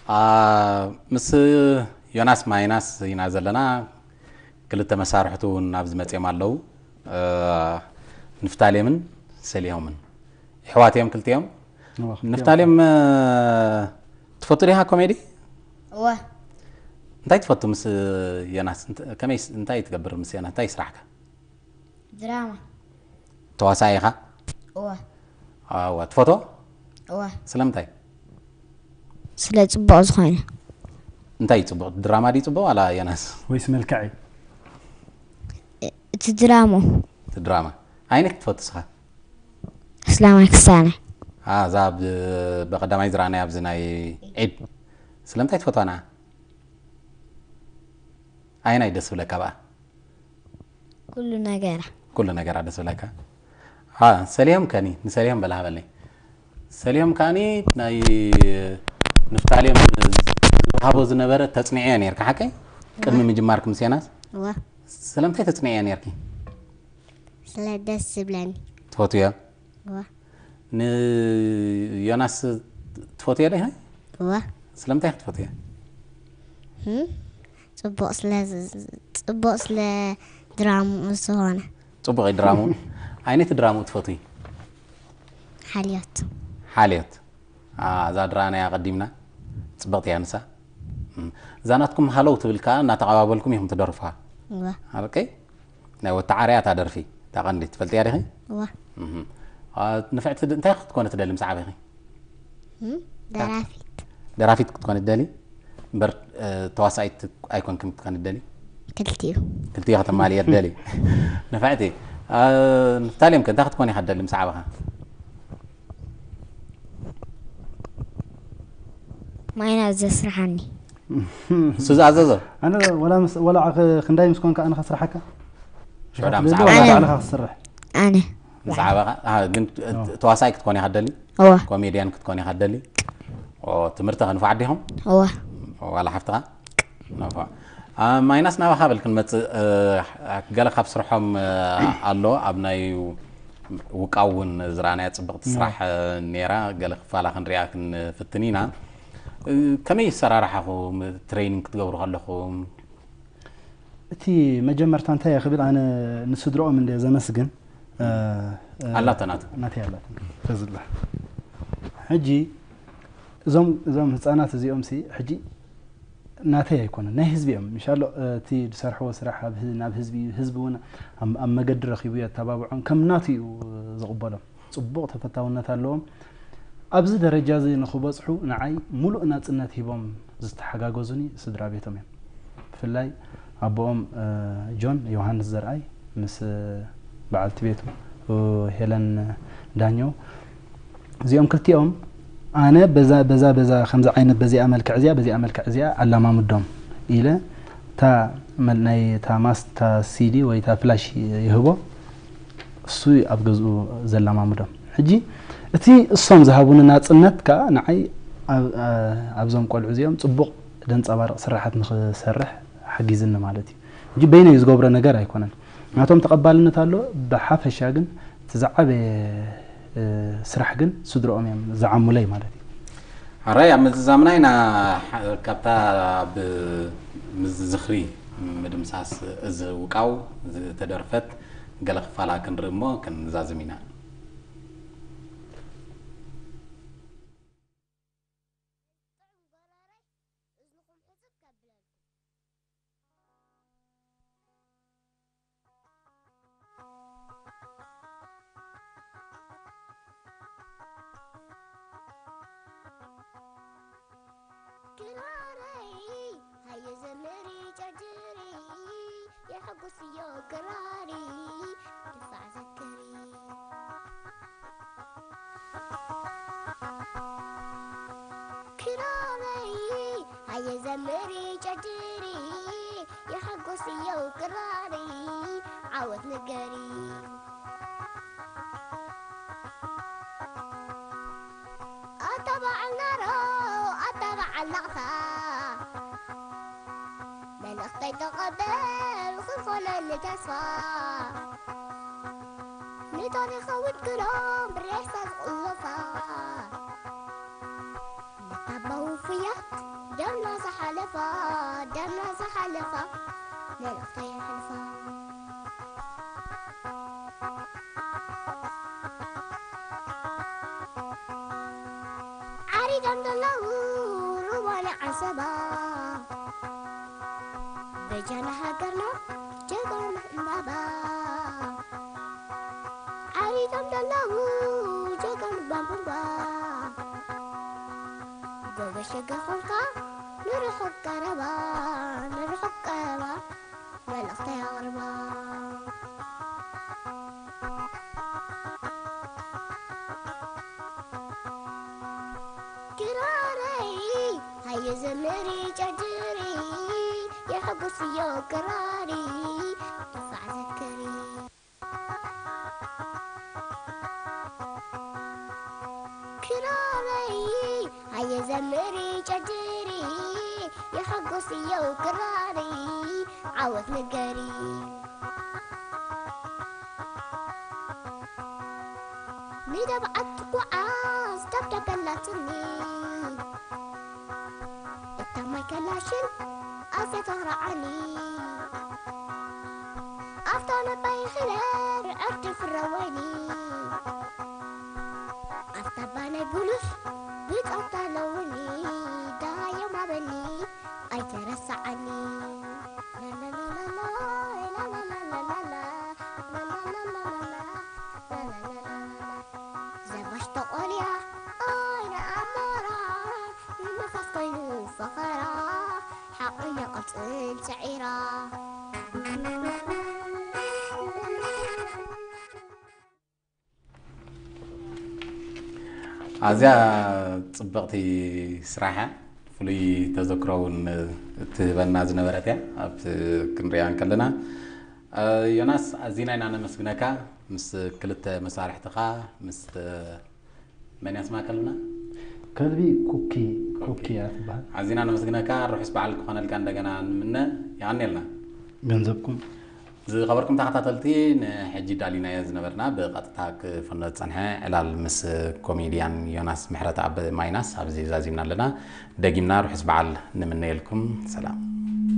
አ፣ ምስ ዮናስ ማይናስ ኢና ዘለና። ክልተ መሳርሕቱ እውን ኣብዚ መፅኦም ኣለዉ። እ፣ ንፍታሌምን ሰሊሆምን። ኣሕዋት እዮም ክልቲኦም። እዋ፣ ክልቲኦም። ንፍታሌም፣ እ፣ ትፈቱ ዲኻ ኮሜዲ? እወ። እንታይ ትፈቱ ምስ ዮናስ? እንተ-፣ ከመይ ስ-፣ እንታይ ትገብር ምስ ዮናስ? እንታይ ስራሕካ? ድራማ። ተዋሳኢ ኢኻ? እወ። ኣዋ፣ ትፈትዎ? እወ። ስለምንታይ? ስለ ጽቡቕ ዝኾነ። እንታይ እዩ ጽቡቕ? ድራማ ድዩ ጽቡቕ ዋላ ዮናስ? ወይስ መልክዕ እዩ? እ-፣ እቲ ድራማ። እቲ ድራማ። ኣየነይቲ ትፈቱ ንስኻ? ኣስላማይ ክስታናይ። አ፣ እዛ ብ-፣ ብቐዳማይ ዝረኣናያ ኣብዚ ናይ ዒድ። ስለምንታይ ትፈትዋ ንዓ? ኣየናይ ደስ ዝብለካ ብኣ? ኩሉ ነገራ። ኩሉ ነገራ ደስ ዝብለካ። አ፣ ሰሊሆም ከኒ፣ ንሰሊሆም በል ሃበለይ። ሰሊሆም ከኣኒ ናይ ንፍታሌም ዝወሃቦ ዝነበረ ተጽንዕዮ ነይርካ፣ ሓቀይ? ቅድሚ ምጅማርኪ ምስ ዮናስ? እወ። ስለምንታይ ተጽንዕዮ ነይርኪ? ስለ ደስ ዝብለኒ። ትፈትውዮ? እወ። ንዮናስ ትፈትውዮ ዶ ኢኺ? እወ። ስለምንታይ ኢኺ ትፈትውዮ? ህም? ጽቡቕ ስለ ዝ-፣ ጽቡቕ ስለ ድራምኡ ዝኾነ። ጽቡቕ እዩ ድራምኡ። ዓይነት ድራምኡ ትፈትዊ? ሓልዮት። ሓልዮት። አ፣ እዛ ድራና እያ ቀዲምና። ጽብቕቲ እያ ንሳ። እም፣ እዛ ናትኩም ሃለው ትብል ከኣ እናተቐባበልኩም ኢኹም ትደርፉዋ። እወ። ኣበቀይ? ናይ ወተዓርያ እታ ደርፊ፣ እታ ቀንዲ፣ ትፈልጥያ ዲኺ? እወ። እም። አ፣ ንፍዕቲ ድ-፣ እንታይ ክትኮኒ ትደሊ ምስ ዓበኺ? እም፣ ደራፊት። ደራፊት ክትኮኒ ትደሊ? እምበር፣ እ፣ ተዋሳኢት ኣይኮንክን ክትኮኒ ትደሊ? ክልቲኡ። ክልቲኡ ከተማልየ ትደሊ። ንፍዕቲ። አ፣ ንፍታሌም ከ እንታይ ክትኮን ኢኻ ትደሊ ምስ ዓበኻ? ማይና ዘስርሓኒ። እሱ ዝኣዘዞ? ኣነ ወላ ምስ-፣ ወላ ኸ-፣ ክንዳይ ምስ ኮንካ ኣነ ከስርሓካ? ሽዑ ዳ ምስ ትደሊ ዓበኻ? ዋላ ባዕልኻ ክትሰርሕ? ኣነ። ምስ ዓበኻ? አ፣ ግን ት-፣ ኦ። ተዋሳኣይ ክትኮን ኢኻ ትደሊ? እወ። ኮሜድያን ክትኮን ኢኻ ትደሊ? ኦ፣ ትምህርቲ ከ ንፉዓት ዲኹም? እወ። ዋላ ሓፍትኻ? ንፉዕ። አ፣ ማይናስ ናባኻ በል ክንመጽእ፣ እ፣ ገለ ካብ ስርሖም፣ እ፣ ኣሎ፣ ኣብ ናይ ውቃው እውን ዝረኣናያ ጽብቕቲ እወ። ስራሕ፣ እ፣ ነይራ፣ ገለ ክፋላ ክንሪኣ ክንፍትን ኢና። እ፣ ከመይ ኣሰራርሓኹም ትሬኒንግ ክትገብሩ ከለኹም? እቲ መጀመርታ እንታይ እየ ክብል፣ ኣነ ንስድርኦም እንደ ዘመስግን፣ እ፣ እ፣ ኣላቶ ናቱ። ናተይ ኣላቶ። ተዝላ። ሕጂ እዞም፣ እዞም ህፃናት እዚኦም ሲ፣ ሕጂ ናተይ ኣይኮነን፣ ናይ ህዝቢ እዮም። ምሻሎ፣ እ፣ እቲ ዝሰርሕዎ ስራሕ ኣብ ህ-፣ ናብ ህዝቢ እዩ። ህዝቢ እውን ኣብ፣ ኣብ መገዲ ረኺቡ የተባብዖም፣ ከም ናቱ እዩ ዝቕበሎም። ጽቡቕ ተፈታውነት ኣለዎም። ኣብዚ ደረጃ እዚ ንኽበጽሑ ንዓይ ሙሉእ ናጽነት ሂቦም ዝተሓጋገዙኒ ስድራ ቤቶም እዮም። ብፍላይ ኣቦኦም፣ እ፣ ጆን ዮሃንስ ዘርኣይ ምስ በዓልቲ ቤቱ፣ እ፣ ሄለን ዳኘው፣ እዚኦም ክልቲኦም ኣነ በዛ፣ በዛ፣ በዛ ከምዚ ዓይነት በዚኣ መልክዕ እዚኣ፣ በዚኣ መልክዕ እዚኣ ኣላማምዶም ኢለ እታ መል-፣ ናይ እታ ማስ-፣ እታ ሲዲ ወይ እታ ፍላሽ ይህቦ። እሱ ኣብ ገዝኡ ዘላማምዶም። ሕጂ እቲ እሶም ዝሃቡኒ ናጽነት ከኣ ንዓይ ኣብ፣ ኣ-፣ ኣብዞም ቆልዑ እዚኦም ጽቡቕ ደንጸባርቕ ስራሓት ንኽሰርሕ ሓጊዝኒ ማለት እዩ። ሕጂ በይነይ ዝገብሮ ነገር ኣይኮነን። ናቶም ተቐባልነት ኣሎ፣ ብሓፈሻ ግን እቲ ዝዓበየ፣ እ፣ ስራሕ ግን ስድርኦም እዮም ዝዓሙለይ ማለት እዩ። ሕራይ ኣብ ምዝዛምና ኢና፣ ሕ-፣ ካብታ ኣብ ምዝ-፣ ዝኽሪ ምድምሳስ እዚ ውቃው ዝተደርፈት ገለ ክፋላ ክንርኢ እሞ ክንዛዝም ኢና። ክራረይ ሃየ ዘምሪ ጨርጭሪ፣ የሐጉስዮ ክራሪ ድፋዕ ዘክሪ። ክራረይ ሃየ ዘምሪ ጨርጭሪ፣ የሐጉስዮ ክራሪ ዓወት ንገሪ። ኣታ በዓል ናሮ፣ ኣታ በዓል ናቕፋ፣ መልእኽተይ ተቐበል ክኾነኒ ተስፋ። ንታሪኻዊት ግሎም ብሬሳ ዝቕለፋ፣ ነታ ኣባ ውፉያት ደምና ዝሓለፋ፣ ደምና ዝሓለፋ፣ መልእኽተይ የሕልፋ። ዓሪዶም ዘለዉ ሩባና ዓሰባ፣ በጃና ሃገርና ጀጋኑ ዕምባባ። ዓሪዶም ዘለዉ ጀጋኑ ባምቡባ፣ ጎበሸገ ኾንካ ንርሑቕ ቀረባ፣ ንርሑቕ ቀረባ፣ መልእኽተይ ኣቕርባ። ክራረይ ሃየ ዘምሪ ጨጅሪ፣ የሐጉስዮ ክራሪ፣ ድፋዕ ዘክሪ። ክራረይ ሃየ ዘምሪ ጨጅሪ፣ የሐጉስዮ ክራሪ፣ ዓወት ንገሪ። ንደብዓት ትጓዓዝ ደብዳበ ኣላትኒ፣ እታ ማይ ከላሽን ኣዝያ ተኽርዓኒ። ኣፍታ ነባይ ኺለር ዕርዲ ፍረወኒ፣ ኣፍታ ባናይ ብሉስ ብጸብታ ኣለውኒ፣ ደሃዮም ኣበኒ ኣይተረስዓኒ። ዘባሽ ተቖልያ ኣይነ ኣሞራ፣ ንንፋስ ኮይኑ ፈኸራ፣ ሓቕኛ ቅልጽም ሰዒራ። ኣዝያ ጽብቕቲ ስራሕ እያ። ፍሉይ ተዘክሮ እውን እትህበና ዝነበረት እያ። ኣብቲ ክንሪኣ እንከለና፣ እ፣ ዮናስ፣ ኣዚና ኢና ነመስግነካ። ምስ ክልተ መሳርሕትኻ፣ ምስ መን እያ ስማ ከልብና? ከልቢ ኩኪ፣ ኩኪ። ኩኪ እያ ትበሃል። ኣዚና ነመስግነካ። ርሑስ በዓል ክኾነልካ እንደገና ንምነ። የቐንየልና። ገንዘብኩም። ዝኸበርኩም ተኸታተልቲ፣ ንሕጂ ዳሊናዮ ዝነበርና ብቐጥታ ክፍኖ ዝጸንሐ ዕላል ምስ ኮሜድያን ዮናስ ምሕረተኣብ ማይናስ ኣብዚ ዛዚምና ኣለና። ደጊምና ርሑስ በዓል ንምነየልኩም። ሰላም።